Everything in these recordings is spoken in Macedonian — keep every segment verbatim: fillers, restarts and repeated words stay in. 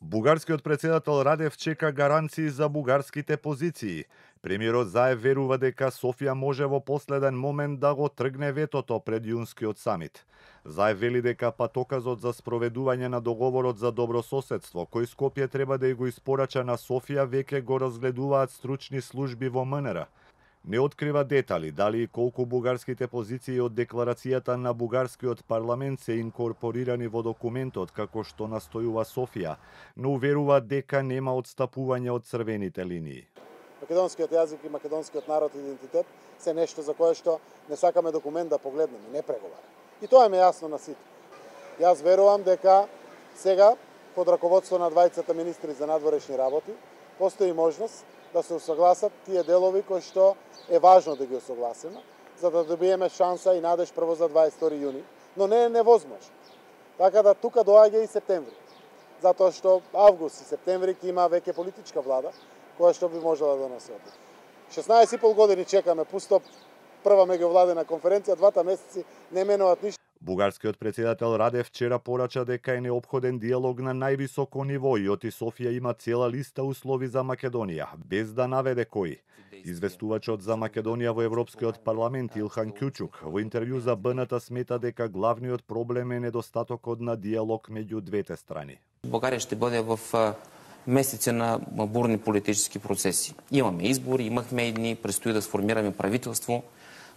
Бугарскиот председател Радев чека гаранции за бугарските позиции. Премиерот Заев верува дека Софија може во последен момент да го тргне ветото пред јунскиот самит. Заев вели дека патоказот за спроведување на договорот за добрососедство, кој Скопје треба да ја го испорача на Софија, веќе го разгледуваат стручни служби во МНР. Не открива детали дали и колку бугарските позиции од декларацијата на бугарскиот парламент се инкорпорирани во документот како што настојува Софија, но уверува дека нема отстапување од црвените линии. Македонскиот јазик и македонскиот народ и идентитет се нешто за кое што не сакаме документ да погледнеме, не преговара. И тоа е јасно на сите. Јас верувам дека сега под раководство на двајцата министри за надворешни работи постои можност да се усогласат тие делови кои што е важно да ги усогласиме, за да добиеме шанса и надеж прво за дваесет и втори јуни, но не е невозможно. Така да тука доаѓа и септември, затоа што август и септември ќе има веќе политичка влада која што би можела да носи одлуки. шеснаесет и пол години чекаме пусто прва меѓувладена конференција, двата месеци не менуваат ништо. Бугарскиот председател Радев вчера порача дека е неопходен диалог на највисоко ниво и оти Софија има цела листа услови за Македонија, без да наведе кои. Известувачот за Македонија во Европскиот парламент Илхан Кјучук во интервју за БНТ смета дека главниот проблем е недостатокот на диалог меѓу двете страни. Бугарија ще биде в месеци на бурни политически процеси. Имаме избори, имахме едни, предстои да сформираме правителство.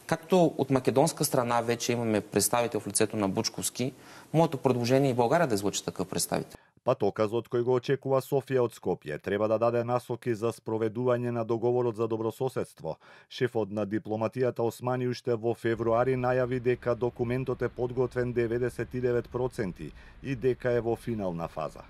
Както от македонска страна вече имаме представител в лицето на Бучковски, моето предложение е България да излъчи такъв представител. Патоказот кој го очекува Софија од Скопје треба да даде насоки за спроведување на договорот за добрососедство. Шефот на дипломатијата Османи уште во февруари најави дека документот е подготвен деветдесет и девет проценти и дека е во финална фаза.